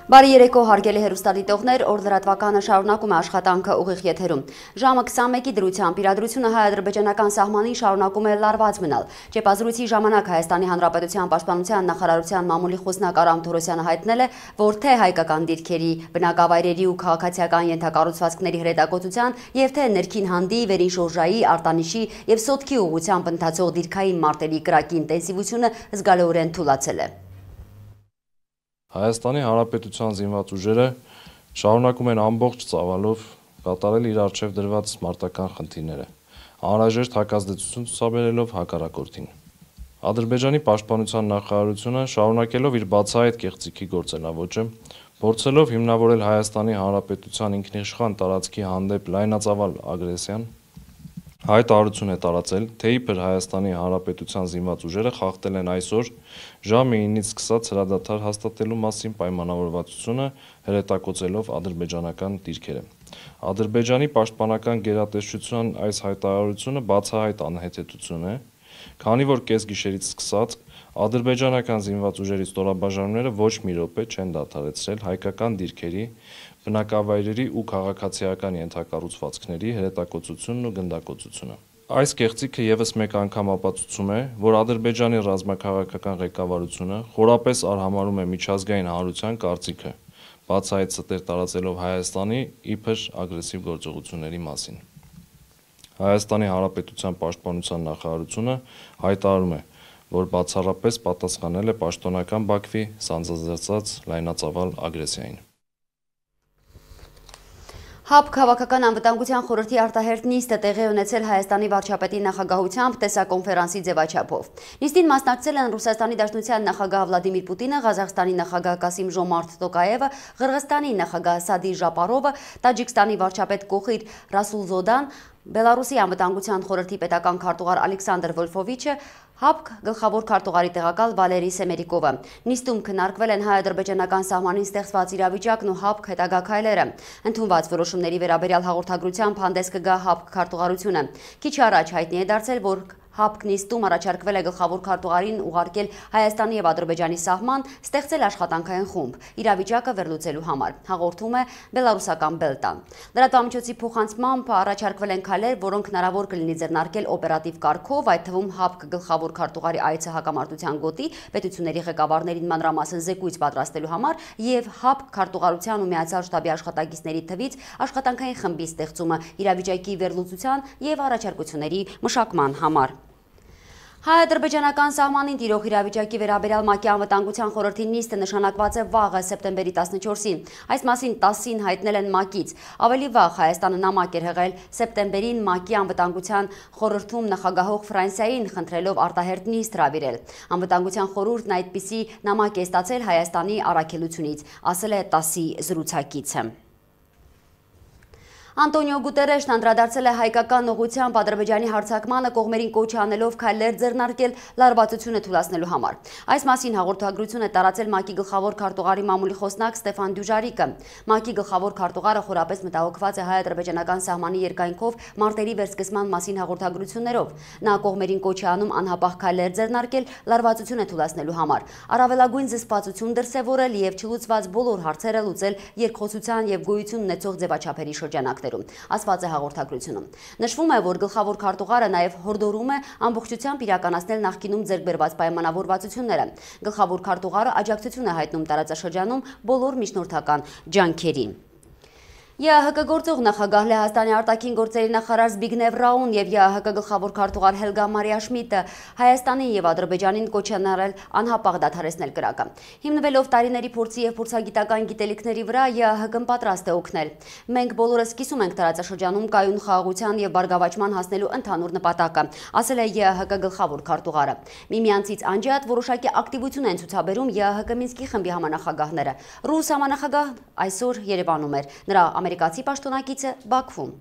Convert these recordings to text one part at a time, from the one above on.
Բարի երեկո հարգելի հեռուստադիտողներ, օրդրատվականը շարունակում է աշխատանքը ուղիղ եթերում։ Ժամը 21-ի դրությամբ իրադրությունը հայ-ադրբեջանական սահմանին շարունակում է լարված մնալ։ Ճեպազրույցի ժամանակ Հայաստանի Հանրապետության Պաշտպանության նախարարության մամուլի խոսնակ Արամ Թորոսյանը հայտնել է, որ թե հայկական դիրքերի, բնակավայրերի ու քաղաքացիական ենթակառուցվածքների հրետակոծության եւ թե ներքին հանդի, վերին շորժայի, արտանիշի եւ սոտքի ուղղությամբ ընթացող դիրքային մարտերի կրակի ինտենսիվությունը զգալիորեն թուլացել է։ Հայաստանի Հանրապետության զինված ուժերը շարունակում են ամբողջ ծավալով կատարել իր առջև դրված մարտական խնդիրները, անհրաժեշտ հակազդեցություն ցուցաբերելով հակառակորդին։ Ադրբեջանի պաշտպանության նախարարությունը շարունակելով իր բացահայտ կեղծիքի գործելավոճը, փորձելով հիմնավորել Հայաստանի Հանրապետության ինքնիշխան տարածքի հանդեպ լայնածավալ ագրեսիան, հայտարարություն է տարածել, թե իբր Հայաստանի Հանրապետության զինված ուժերը խախտել են այսօր ժամը 9-ից սկսած հրադադար հաստատելու մասին պայմանավորվածությունը հրետակոծելով ադրբեջանական դիրքերը։ Ադրբեջանի պաշտպանական գերատեսչության այս հայտարարությունը բացահայտ անհեթեթություն է, քանի որ կեսգիշերից սկսած ադրբեջանական զինված ուժերի ստորաբաժանումները ոչ մի րոպե չեն դադարեցրել հայկական դիրքերի, բնակավայրերի ու քաղաքացիական ենթակառուցվածքների հրետակոծությունն ու գնդակոծությունը։ Այս կեղծիքը եւս մեկ անգամ ապացուցում է, որ Ադրբեջանի ռազմաքաղաքական ղեկավարությունը խորապես արհամարհում է միջազգային հանրության կարծիքը, բացահայտ ստեր տարածելով Հայաստանի իբր ագրեսիվ գործողությունների մասին։ Հայաստանի Հանրապետության Պաշտպանության նախարարությունը հայտարարում է, որ բացառապես պատասխանել է պաշտոնական Բաքվի սանձազերծած լայնածավալ ագրեսիային։ ՀԱՊ քաղաքական անվտանգության խորհրդի արտահերթ նիստը տեղի ունեցել Հայաստանի վարչապետի նախագահությամբ տեսակոնֆերանսի ձևաչափով։ Նիստին մասնակցել են Ռուսաստանի Դաշնության նախագահ Վլադիմիր Պուտինը, Ղազախստանի նախագահ Կասիմ-Ժոմարթ Տոկաևը, Ղրղստանի նախագահ Սադի Ժապարովը, Տաջիկստանի վարչապետ Կոխիր Ռասուլզոդան, Բելարուսի անվտանգության խորհրդի պետական քարտուղար Ալեքսանդր Վոլֆովիչը, ՀԱՊ գլխավոր քարտուղարի տեղակալ Վալերի Սեմերիկովը։ Նիստում քննարկվել են հայ-ադրբեջանական սահմանին ստեղծված իրավիճակն ու ՀԱՊ հետագա քայլերը։ Ընդունված որոշումների վերաբերյալ հաղորդագրությամբ հանդես կգա ՀԱՊ քարտուղարությունը։ Քիչ առաջ հայտնի է դարձել, որ ՀԱՊ նիստում առաջարկվել է գլխավոր քարտուղարին ուղարկել Հայաստանի եւ Ադրբեջանի սահման, ստեղծել աշխատանքային խումբ իրավիճակը վերլուծելու համար, հաղորդում է բելարուսական Բելտան։ Լրատվամիջոցի փոխանցմամբ առաջարկվել են քայլեր, որոնք հնարավոր կլինի ձեռնարկել օպերատիվ կարգով, այդ թվում ՀԱՊ գլխավոր քարտուղարի այցը հակամարտության գոտի, պետությունների ղեկավարներին մանրամասն զեկույց պատրաստելու համար եւ ՀԱՊ քարտուղարության ու միացյալ շտաբի աշխատակիցների թվից աշխատանքային խմբի ստեղծումը իրավիճակի վերլուծության եւ առաջարկությունների մշակման համար։ Հայ-ադրբեջանական սահմանին տիրող իրավիճակի վերաբերյալ ՄԱԿ-ի անվտանգության խորհրդի նիստը նշանակված է վաղը սեպտեմբերի 14-ին։ Այս մասին 10-ին հայտնել են ՄԱԿ-ից։ Ավելի վաղ Հայաստանը նամակ էր հղել սեպտեմբերին ՄԱԿ-ի անվտանգության խորհրդում նախագահող Ֆրանսիային, խնդրելով արտահերթ նիստ հրավիրել։ Անվտանգության խորհուրդն այդպիսի նամակ է ստացել Հայաստանի առաքելությունից, ասել է ՏԱՍ-ի զրուցակիցը։ Անտոնիո Գուտերեշն անդրադարձել է հայկական ուղղությամբ Ադրբեջանի հարձակմանը, կողմերին կոչ անելով քայլեր ձեռնարկել լարվածությունը թույլատնելու համար։ Այս մասին հաղորդագրություն է տարածել ՄԱԿ-ի գլխավոր քարտուղարի մամուլի խոսնակ Ստեֆան Դյուժարիկը։ ՄԱԿ-ի գլխավոր քարտուղարը խորապես մտահոգված է հայ-ադրբեջանական սահմանի երկայնքով մարտերի վերսկսման մասին հաղորդագրություններով։ Նա կողմերին կոչ է անում անհապաղ քայլեր ձեռնարկել լարվածությունը թույլատնելու համար, առավելագույն զսպվածություն դրսևորել եւ չլուծված բոլոր հարցերը լուծել երկխոսության եւ գոյություն ունեցող ձևաչափերի շրջանակներում, ասված է հաղորդագրությունում։ Նշվում է, որ գլխավոր քարտուղարը նաև հորդորում է ամբողջությամբ իրականացնել նախկինում ձեռք բերված պայմանավորվածությունները։ Գլխավոր քարտուղարը աջակցություն է հայտնում տարածաշրջանում բոլոր միջնորդական ջանքերին։ ԵԱՀԿ գործող նախագահ Լեհաստանի արտաքին գործերի նախարար Զբիգնև Ռաուն եւ ԵԱՀԿ գլխավոր քարտուղար Հելգա Մարիա Շմիդտը Հայաստանին եւ Ադրբեջանին կոչ են արել անհապաղ դադարեցնել կրակը։ Հիմնվելով տարիների փորձի եւ փորձագիտական գիտելիքների վրա ԵԱՀԿ-ն պատրաստ է օգնել։ Մենք բոլորս կիսում ենք տարածաշրջանում կայուն խաղաղության եւ բարգավաճման հասնելու ընդհանուր նպատակը, ասել է ԵԱՀԿ գլխավոր քարտուղարը։ Միմյանցից անջատ որոշակի ակտիվություն են ցուցաբերում ԵԱՀԿ Մինսկի խմբի համանախագահները։ Ռուս համանախագահ այսօր Երևանում էր։ Նրա ամերիկացի պաշտոնակիցը Բաքվում։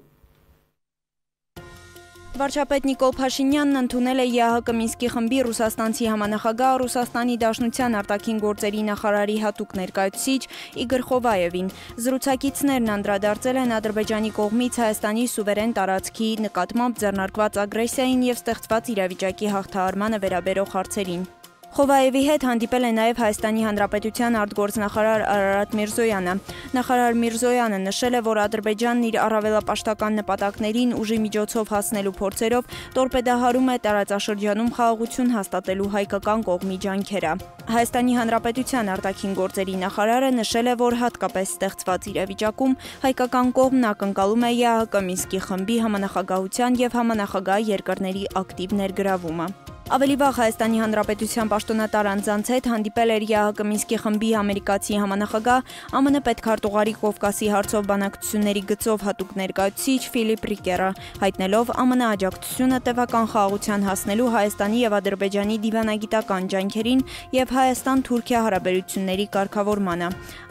Վարչապետ Նիկոլ Փաշինյանն ընդունել է ԵԱՀԿ Մինսկի խմբի ռուսաստանցի համանախագահ Ռուսաստանի Դաշնության արտաքին գործերի նախարարի հատուկ ներկայացուցիչ Իգոր Խովայևին։ Զրուցակիցներն անդրադարձել են Ադրբեջանի կողմից Հայաստանի սուվերեն տարածքի նկատմամբ ձեռնարկված ագրեսիային եւ ստեղծված իրավիճակի հաղթահարմանը վերաբերող հարցերին։ Խովայևի հետ հանդիպել է նաև Հայաստանի Հանրապետության արտգործնախարար Արարատ Միրզոյանը։ Նախարար Միրզոյանը նշել է, որ Ադրբեջանն իր առավելապաշտական նպատակներին ուժի միջոցով հասնելու փորձերով տորպեդահարում է տարածաշրջանում խաղաղություն հաստատելու հայկական կողմի ջանքերը։ Հայաստանի Հանրապետության արտաքին գործերի նախարարը նշել է, որ հատկապես ստեղծված իրավիճակում հայկական կողմն ակնկալում է ԵԱՀԿ Մինսկի խմբի համանախագահության եւ համանախագահ երկրների ակտիվ ներգրավումը։ Ավելի վաղ Հայաստանի Հանրապետության պաշտոնատար անձանց հետ հանդիպել էր ԵԱՀԿ Մինսկի խմբի ամերիկացի համանախագահ ԱՄՆ պետքարտուղարի Կովկասի հարցով բանակցությունների գծով հատուկ ներկայացուցիչ Ֆիլիպ Ռիկերը, հայտնելով ԱՄՆ աջակցությունը տևական խաղաղության հասնելու Հայաստանի եւ Ադրբեջանի դիվանագիտական ջանքերին եւ Հայաստան-Թուրքիա հարաբերությունների կարգավորմանը։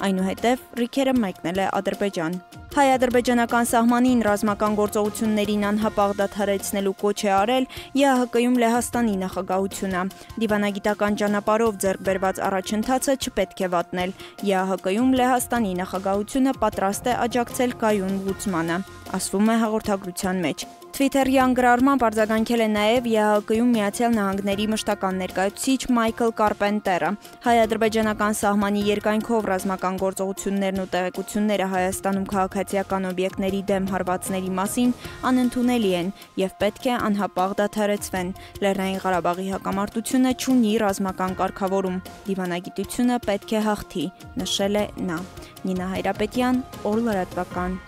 Այնուհետև Ռիկերը մեկնել է Ադրբեջան։ Հայ-ադրբեջանական սահմանին ռազմական գործողություններին անհապաղ դադարեցնելու կոչ է արել ԵԱՀԿ-ում Լեհաստանի նախագահությունը։ Դիվանագիտական ճանապարհով ձեռք բերված առաջընթացը չպետք է վատնել։ ԵԱՀԿ-ում Լեհաստանի նախագահությունը պատրաստ է աջակցել կայուն լուծմանը, ասվում է հաղորդագրության մեջ։ Թվիթերյան գրառմամբ արձագանքել է նաև ԵԱՀԿ-ում Միացյալ Նահանգների մշտական ներկայացուցիչ Մայքլ Կարպենտերը։ Հայ-ադրբեջանական սահմանի երկայնքով ռազմական գործողություններն ու տեղեկությունները Հայաստանում քաղաքացիական օբյեկտների դեմ հարվածների մասին անընդունելի են եւ պետք է անհապաղ դադարեցվեն։ Լեռնային Ղարաբաղի հակամարտությունը չունի ռազմական կարգավորում։ Դիվանագիտությունը պետք է հաղթի, նշել է նա։ Նինա Հայրապետյան, Օր լրատվական։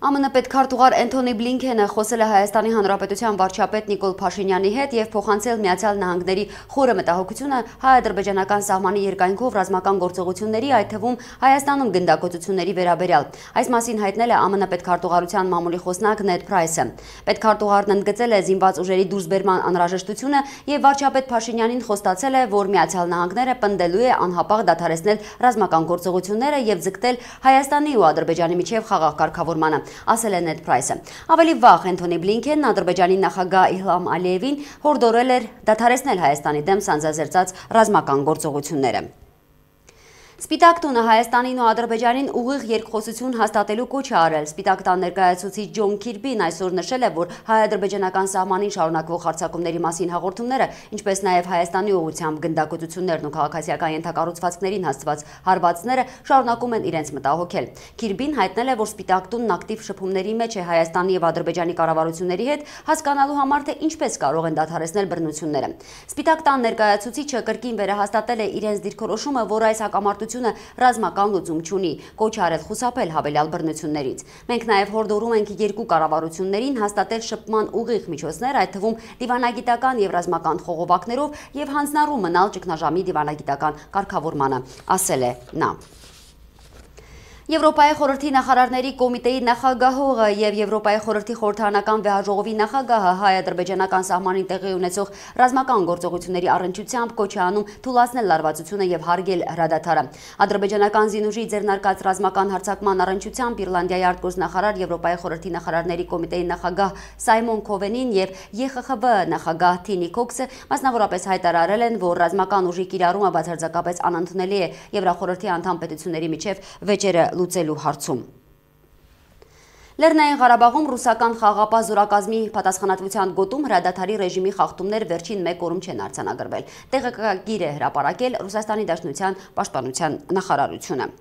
ԱՄՆ պետքարտուղար Էնթոնի Բլինքենը խոսել է Հայաստանի Հանրապետության վարչապետ Նիկոլ Փաշինյանի հետ եւ փոխանցել Միացյալ Նահանգների խորը մտահոգությունը հայ-ադրբեջանական սահմանի երկայնքով ռազմական գործողությունների, այդ թվում Հայաստանում գնդակոծությունների վերաբերյալ։ Այս մասին հայտնել է ԱՄՆ պետքարտուղարության մամուլի խոսնակ Նեդ Փրայսը։ Պետքարտուղարն ընդգծել է զինված ուժերի դուրսբերման անհրաժեշտությունը եւ վարչապետ Փաշինյանին խոստացել է, որ Միացյալ Նահանգները պնդելու է անհապաղ դադարեցնել ռազմական գործողությունները եւ ձգտել Հայաստանի ու Ադրբեջանի միջև խաղաղ կարգավորմանը, ասել է Նեդ Փրայսը։ Ավելի վաղ Էնթոնի Բլինքենն Ադրբեջանի նախագահ Իլհամ Ալիևին հորդորել էր դադարեցնել Հայաստանի դեմ սանձազերծած ռազմական գործողությունները։ Սպիտակ տունը Հայաստանին ու Ադրբեջանին ուղիղ երկխոսություն հաստատելու կոչ է արել։ Սպիտակ տան ներկայացուցիչ Ջոն Քիրբին այսօր նշել է, որ հայ-ադրբեջանական սահմանին շարունակվող հարձակումների մասին հաղորդումները, ինչպես նաև Հայաստանի ուղղությամբ գնդակոծություններն ու քաղաքացիական ենթակառուցվածքներին հասցված հարվածները շարունակում են իրենց մտահոգել։ Քիրբին հայտնել է, որ Սպիտակ տունն ակտիվ շփումների մեջ է Հայաստանի եւ Ադրբեջանի կառավարությունների հետ, հասկանալու համար, թե ինչպես կարող են դադարեցնել բռնությունները։ Սպիտակ տան ներկայացուցիչը կրկին վերահաստատել է իրենց դիրքորոշումը, որ այս հակամարտությունը ռազմական լուծում չունի, կոչ արել խուսափել հավելյալ բռնություններից։ Մենք նաև հորդորում ենք երկու կառավարություններին հաստատել շփման ուղիղ միջոցներ, այդ թվում դիվանագիտական եւ ռազմական խողովակներով եւ հանձնառու մնալ ճգնաժամի դիվանագիտական կարգավորմանը, ասել է նա։ Եվրոպայի խորհրդի նախարարների կոմիտեի նախագահողը եւ Եվրոպայի խորհրդի խորհրդարանական վեհաժողովի նախագահը հայ-ադրբեջանական սահմանին տեղի ունեցող ռազմական գործողությունների առնչությամբ կոչ է անում թույլատնել լարվածությունը եւ հարգել հրադադարը։ Ադրբեջանական զինուժի ձեռնարկած ռազմական հարձակման առնչությամբ Իռլանդիայի արտգործնախարար Եվրոպայի խորհրդի նախարարների կոմիտեի նախագահ Սայմոն Քովենին եւ ԵԽԽՎ նախագահ Թինի Քոքսը մասնավորապես հայտարարել են, որ ռազմական ուժի կիրառումը բացարձակապես անընդունելի է Եվրախորհրդի անդամ պետությունների միջև վեճերը լուծելու հարցում։ Լեռնային Ղարաբաղում ռուսական խաղաղապահ զորակազմի պատասխանատվության գոտում հրադադարի ռեժիմի խախտումներ վերջին 1 օրում չեն արձանագրվել։ Տեղեկագիր է հրապարակել Ռուսաստանի Դաշնության պաշտպանության նախարարությունը։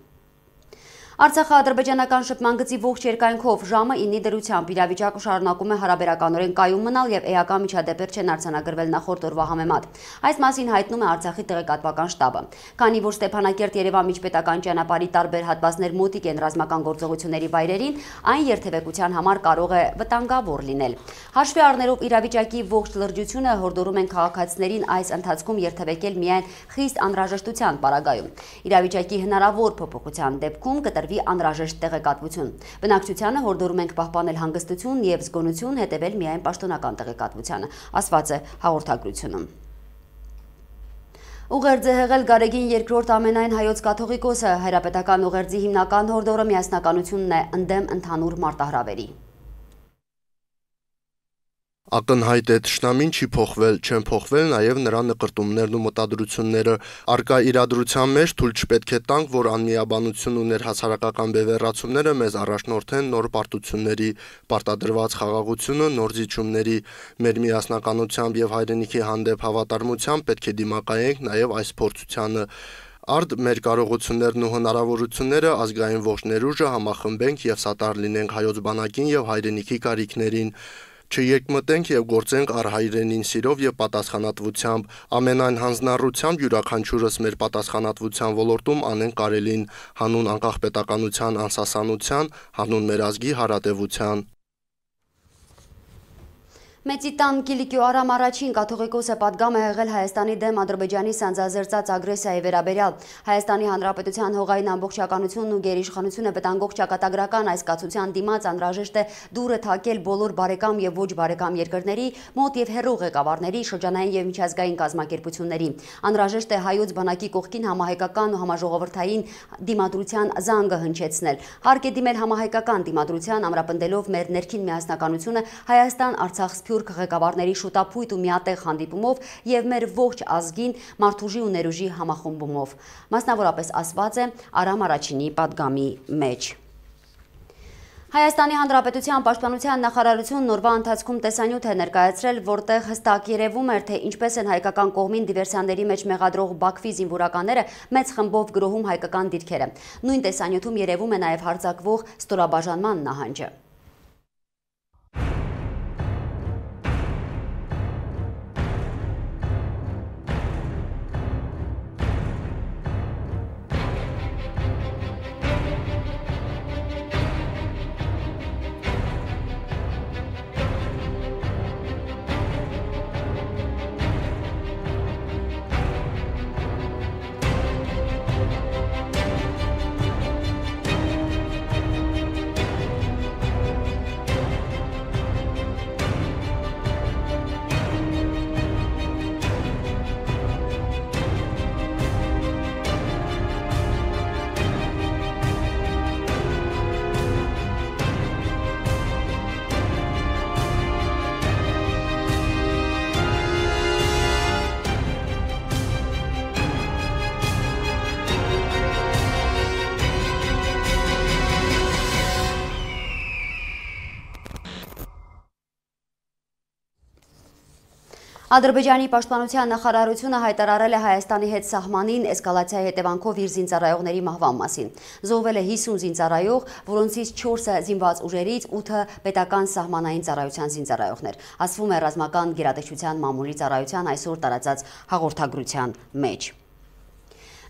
Արցախա-ադրբեջանական շփման գծի ողջ երկայնքով ժամը 9-ի դրությամբ իրավիճակը շարունակում է հարաբերականորեն կայուն մնալ եւ էական միջադեպեր չեն արձանագրվել նախորդ օրվա համեմատ։ Այս մասին հայտնում է Արցախի տեղեկատվական շտաբը։ Քանի որ Ստեփանակերտ-Երևան միջպետական ճանապարհի տարբեր հատվածներ մոտիկ են ռազմական գործողությունների վայրերին, այն երթևեկության համար կարող է վտանգավոր լինել։ Հաշվի առնելով իրավիճակի ողջ լրջությունը, հորդորում են քաղաքացիներին այս ընթացքում երթևեկել միայն խիստ անհրաժեշտության պարագայում։ Իրավիճակի հնարավոր փոփոխության դեպքում կտրվի անհրաժեշտ տեղեկատվություն։ Բնակչությանը հորդորում ենք պահպանել հանգստություն եւ զգոնություն, հետևել միայն պաշտոնական տեղեկատվությանը, ասված է հաղորդագրությունում։ Ուղերձ է հղել Գարեգին II ամենայն հայոց կաթողիկոսը, հայրապետական ուղերձի հիմնական հորդորը միասնականությունն է ընդդեմ ընդհանուր մարտահրավերի։ Ակնհայտ է թշնամին չի փոխվել, չեն փոխվել նաև նրա նկրտումներն ու մտադրությունները։ Արկա իրադրության մեջ թույլ չպետք է տանք, որ անմիաբանություն ու ներհասարակական բևեռացումները մեզ առաջնորդեն նոր պարտությունների, պարտադրված խաղաղությունը նոր զիջումների։ Մեր միասնականությամբ եւ հայրենիքի հանդեպ հավատարմությամբ պետք է դիմակայենք նաև այս փորձությանը։ Արդ մեր կարողություններն ու հնարավորությունները ազգային ողջ ներուժը համախմբենք եւ սատար լինենք հայոց բանակին եւ հայրենիքի կարիքներին։ Չեկմտենք եւ գործենք առ հայրենին սիրով եւ պատասխանատվությամբ, ամենայն հանձնառությամբ յուրաքանչյուրս մեր պատասխանատվության ոլորտում անենք կարելին, հանուն անկախ պետականության անսասանության, հանուն մեր ազգի հարատևության։ Մեծիտան Կիլիկիո Արամ առաջին կաթողիկոսը պատգամ է եղել Հայաստանի դեմ Ադրբեջանի սանձազերծած ագրեսիայի վերաբերյալ։ Հայաստանի Հանրապետության հողային ամբողջականությունն ու գերիշխանությունը վտանգող ճակատագրական այս կացության դիմաց անհրաժեշտ է դուռը թակել բոլոր բարեկամ եւ ոչ բարեկամ երկրների, մոտ եւ հեռու ղեկավարների, շրջանային եւ միջազգային կազմակերպությունների։ Անհրաժեշտ է հայոց բանակի կողքին համահայկական ու համաժողովրդային դիմադրության զանգը հնչեցնել։ Հարկ է դիմել համահայկական դիմադրության, ամրապնդելով մեր ներքին միասնականությունը Հայաստան-Արցախ Սփյուռք ղեկավարների շուտապույտ ու միատեղ հանդիպումով եւ մեր ողջ ազգին մարդուժի ու ներուժի համախմբումով։ Մասնավորապես ասված է Արամ առաջինի պատգամի մեջ։ Հայաստանի Հանրապետության պաշտպանության նախարարությունն օրվա ընթացքում տեսանյութ է ներկայացրել, որտեղ հստակ երևում էր, թե ինչպես են հայկական կողմին դիվերսիաների մեջ մեղադրող Բաքվի զինվորականները մեծ խմբով գրոհում հայկական դիրքերը։ Նույն տեսանյութում երևում է նաև հարձակվող ստորաբաժանման նահանջը։ Ադրբեջանի պաշտպանության նախարարությունը հայտարարել է Հայաստանի հետ սահմանին էսկալացիայի հետևանքով իր զինծառայողների մահվան մասին։ Զոհվել է 50 զինծառայող, որոնցից 4-ը զինված ուժերից, 8-ը պետական սահմանային ծառայության զինծառայողներ։ Ասվում է ռազմական գերատեսչության մամուլի ծառայության այսօր տարածած հաղորդագրության մեջ։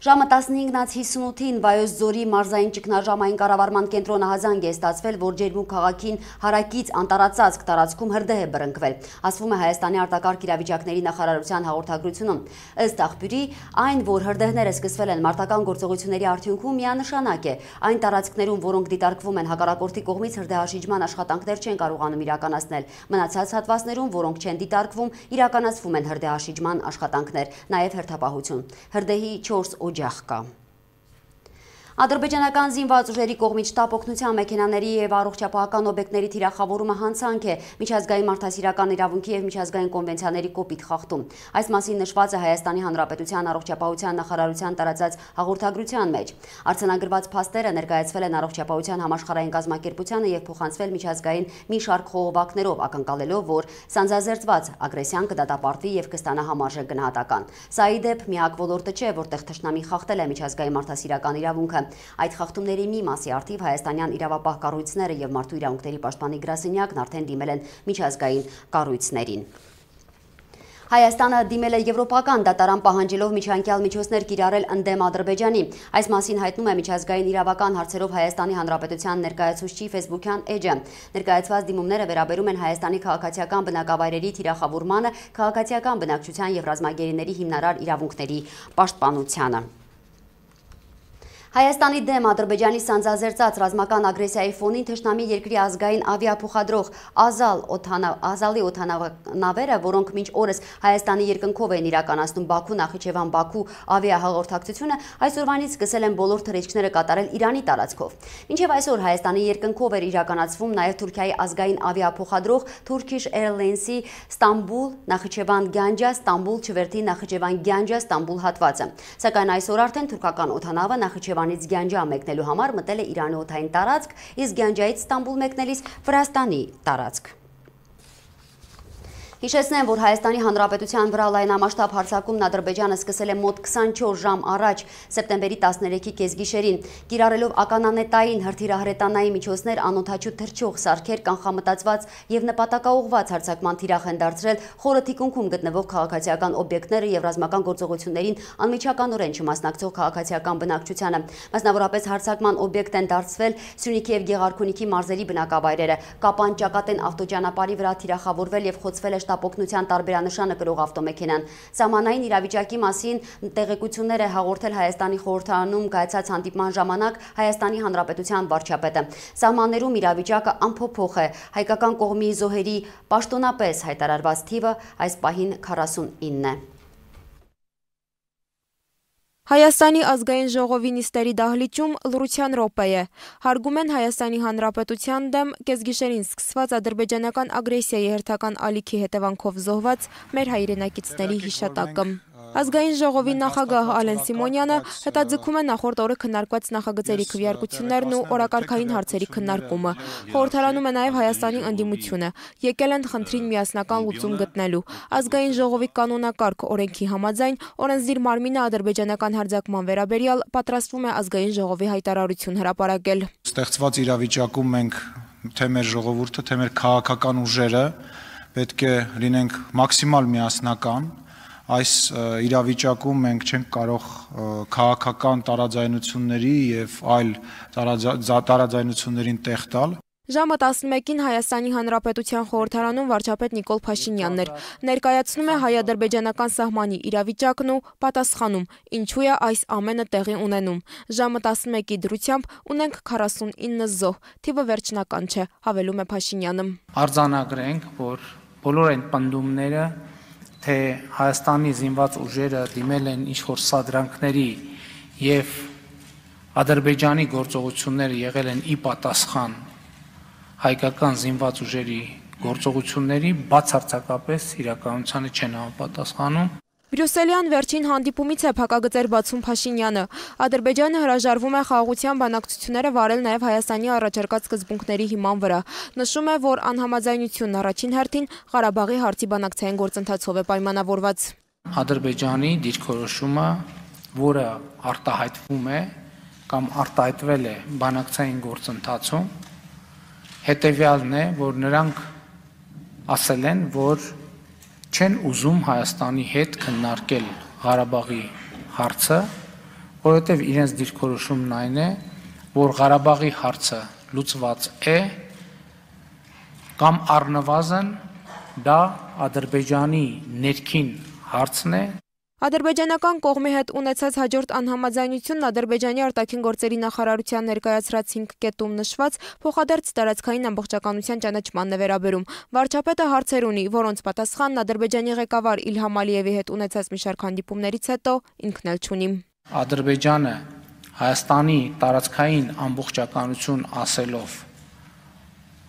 Ժամը 15:58-ին Վայոց ձորի մարզային ճգնաժամային կառավարման կենտրոնը հազանգ է ստացվել, որ Ջերմուկ քաղաքին հարակից անտարածածկ տարածքում հրդեհ է բռնկվել, ասվում է Հայաստանի արտակարգ իրավիճակների նախարարության հաղորդագրությունում։ Ըստ աղբյուրի, այն, որ հրդեհները սկսվել են մարտական գործողությունների արդյունքում, միանշանակ է։ Այն տարածքներում, որոնք դիտարկվում են հակառակորդի կողմից, հրդեհաշիջման աշխատանքներ չեն կարողանում իրականացնել։ Մնացած հատվածներում, որոնք չեն դիտարկվում, իրականացվում են հրդեհաշիջման աշխատանքներ, նաև հերթապահություն։ Հրդեհի 4 օջախ կա։ Ադրբեջանական զինված ուժերի կողմից շտապ օգնության մեքենաների եւ առողջապահական օբյեկտների թիրախավորումը հանցանք է միջազգային մարդասիրական իրավունքի եւ միջազգային կոնվենցիաների կոպիտ խախտում։ Այս մասին նշված է Հայաստանի Հանրապետության առողջապահության նախարարության տարածած հաղորդագրության մեջ։ Արձանագրված փաստերը ներկայացվել են առողջապահության համաշխարհային կազմակերպությանը եւ փոխանցվել միջազգային մի շարք խողովակներով, ակնկալելով, որ սանձազերծված ագրեսիան կդատապարտվի եւ կստանա համարժեք գնահատական։ Սա ի դեպ միակ ոլորտը չէ, որտեղ թշնամին խախտել է միջազգային մարդասիրական իրավունքը։ Այդ խախտումների մի մասի արդիվ հայաստանյան իրավապահ կառույցները եւ մարդու իրավունքների պաշտպանի գրասենյակն արդեն դիմել են միջազգային կառույցներին։ Հայաստանը դիմել է եվրոպական դատարան պահանջելով միջանկյալ միջոցներ կիրառել ընդդեմ Ադրբեջանի։ Այս մասին հայտնում է միջազգային իրավական հարցերով Հայաստանի Հանրապետության ներկայացուցչի ֆեյսբուքյան էջը։ Ներկայացված դիմումները վերաբերում են Հայաստանի քաղաքացիական բնակավայրերի թիրախավորմանը, քաղաքացիական բնակչության եւ ռազմագերիների հիմնարար իրավունքների պաշտպանությանը։ Հայաստանի դեմ Ադրբեջանի սանձազերծած ռազմական ագրեսիայի ֆոնին թշնամի երկրի ազգային ավիափոխադրող Ազալի օդանավերը, որոնք մինչ օրս Հայաստանի երկնքով են իրականացնում Բաքու, Նախիջևան, Բաքու ավիահաղորդակցությունը, այսօրվանից սկսել են բոլոր թռիչքները կատարել Իրանի տարածքով։ Մինչև այսօր Հայաստանի երկնքով էր իրականացվում նաև Թուրքիայի ազգային ավիափոխադրող Turkish Airlines-ի Ստամբուլ, Նախիջևան, Գանջա, Ստամբուլ, Չվերթի, Նախիջևան, Գանջա, Ստամբուլ հատվածը։ Սակայն այսօր արդեն թուրքական օդանավը Նախիջևանից Գանջա մեկնելու համար մտել է Իրանի օդային տարածք, իսկ Գանջայից Ստամբուլ մեկնելիս Վրաստանի տարածք։ Հիշեցնեմ, որ Հայաստանի Հանրապետության վրա լայնամասշտաբ հարձակումն Ադրբեջանը սկսել է մոտ 24 ժամ առաջ սեպտեմբերի 13-ի կեսգիշերին, կիրառելով ականանետային, հրթիռահրետանային միջոցներ, անօդաչու թռչող սարքեր, կանխամտածված եւ նպատակաուղղված հարձակման թիրախ են դարձրել խորը թիկունքում գտնվող քաղաքացիական օբյեկտները եւ ռազմական գործողություններին անմիջականորեն չմասնակցող քաղաքացիական բնակչությանը։ Մասնավորապես հարձակման օբյեկտ են դարձվել Սյունիքի եւ Գեղարքունիքի մարզերի բնակավայրերը, Կապան Ճակատեն ավտոճանապարհի վրա թիրախավորվել եւ խոցվել է շտապօգնության տարբերանշանը կրող ավտոմեքենան։ Սահմանային իրավիճակի մասին տեղեկություններ է հաղորդել Հայաստանի խորհրդարանում կայացած հանդիպման ժամանակ Հայաստանի Հանրապետության վարչապետը։ Սահմաններում իրավիճակը անփոփոխ է։ Հայկական կողմի զոհերի պաշտոնապես հայտարարված թիվը այս պահին 49 է։ Հայաստանի ազգային ժողովի նիստերի դահլիճում լռության րոպե է։ Հարգում են Հայաստանի Հանրապետության դեմ կեսգիշերին սկսված ադրբեջանական ագրեսիայի հերթական ալիքի հետևանքով զոհված մեր հայրենակիցների հիշատակը։ Ազգային ժողովի նախագահ Ալեն Սիմոնյանը հետաձգում է նախորդ օրը քննարկված նախագծերի քվեարկություններն ու օրակարգային հարցերի քննարկումը։ Խորհրդարանում է նաև Հայաստանի ընդդիմությունը։ Եկել են խնդրին միասնական լուծում գտնելու։ Ազգային ժողովի կանոնակարգ օրենքի համաձայն օրենսդիր մարմինը ադրբեջանական հարձակման վերաբերյալ պատրաստվում է ազգային ժողովի հայտարարություն հրապարակել։ Ստեղծված իրավիճակում մենք թե մեր ժողովուրդը, թե մեր քաղաքական ուժերը պետք է լինենք մաքսիմալ միասնական։ Այս իրավիճակում մենք չենք կարող քաղաքական տարաձայնությունների եւ այլ տարաձայնություններին տեղ տալ։ Ժամը 11-ին Հայաստանի Հանրապետության խորհրդարանում վարչապետ Նիկոլ Փաշինյանն էր։ Ներկայացնում է հայ-ադրբեջանական սահմանի իրավիճակն ու պատասխանում, ինչու է այս ամենը տեղի ունենում։ Ժամը 11-ի դրությամբ ունենք 49 զոհ, թիվը վերջնական չէ, հավելում է Փաշինյանը։ Արձանագրենք, որ բոլոր այն պնդումները, թե Հայաստանի զինված ուժերը դիմել են ինչ-որ սադրանքների եւ Ադրբեջանի գործողությունները եղել են ի պատասխան հայկական զինված ուժերի գործողությունների, բացարձակապես իրականությանը չեն համապատասխանում։ Բրյուսելյան վերջին հանդիպումից է փակագծեր բացում Փաշինյանը։ Ադրբեջանը հրաժարվում է խաղաղության բանակցությունները վարել նաև Հայաստանի առաջարկած սկզբունքների հիման վրա։ Նշում է, որ անհամաձայնությունն առաջին հերթին Ղարաբաղի հարցի բանակցային գործընթացով է պայմանավորված։ Ադրբեջանի դիրքորոշումը, որը արտահայտվում է կամ արտահայտվել է բանակցային գործընթացում, հետևյալն է, որ նրանք ասել են, որ չեն ուզում Հայաստանի հետ քննարկել Ղարաբաղի հարցը, որովհետև իրենց դիրքորոշումն այն է, որ Ղարաբաղի հարցը լուծված է կամ առնվազն դա Ադրբեջանի ներքին հարցն է։ Ադրբեջանական կողմի հետ ունեցած հաջորդ անհամաձայնությունն Ադրբեջանի արտաքին գործերի նախարարության ներկայացրած 5 կետում նշված փոխադարձ տարածքային ամբողջականության ճանաչմանն է վերաբերում։ Վարչապետը հարցեր ունի, որոնց պատասխանն Ադրբեջանի ղեկավար Իլհամ Ալիևի հետ ունեցած մի շարք հանդիպումներից հետո ինքն էլ չունի։ Ադրբեջանը Հայաստանի տարածքային ամբողջականություն ասելով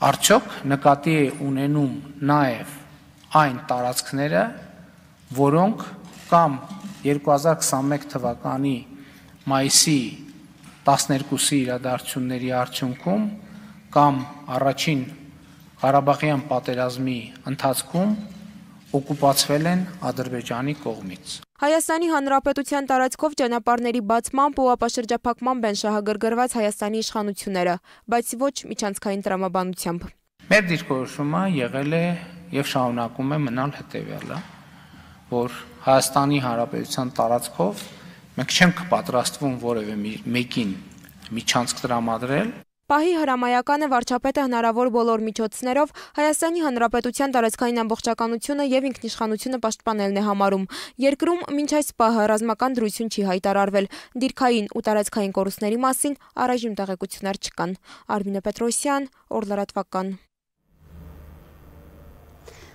արդյոք նկատի է ունենում նաև այն տարածքները, որոնք կամ 2021 թվականի մայիսի 12-ի իրադարձությունների արդյունքում կամ առաջին Ղարաբաղյան պատերազմի ընթացքում օկուպացվել են Ադրբեջանի կողմից։ Հայաստանի Հանրապետության տարածքով ճանապարհների բացմամբ ու ապաշրջափակմամբ են շահագրգռված Հայաստանի իշխանությունները, բայց ոչ միջանցքային տրամաբանությամբ։ Մեր դիրքորոշումը եղել է եւ շարունակում է մնալ հետեւյալը, որ Հայաստանի Հանրապետության տարածքով մենք չենք պատրաստվում որևէ մեկին միջանցք տրամադրել, Պահի հրամայականը վարչապետը հնարավոր բոլոր միջոցներով Հայաստանի Հանրապետության տարածքային ամբողջականությունը եւ ինքնիշխանությունը պաշտպանելն է համարում։ Երկրում մինչ այս պահը ռազմական դրություն չի հայտարարվել։ Դիրքային ու տարածքային կորուստների մասին առայժմ տեղեկություններ չկան։ Արմինե Պետրոսյան, Օրլարատվական։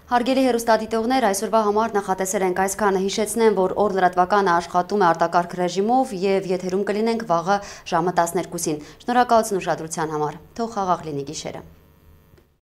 Հարգելի հեռուստադիտողներ, այսօրվա համար նախատեսել ենք այսքանը, հիշեցնեմ, որ օր լրատվականը աշխատում է արտակարգ ռեժիմով եւ եթերում կլինենք վաղը ժամը 12-ին։ Շնորհակալություն ուշադրության համար։ Թող խաղաղ լինի գիշերը։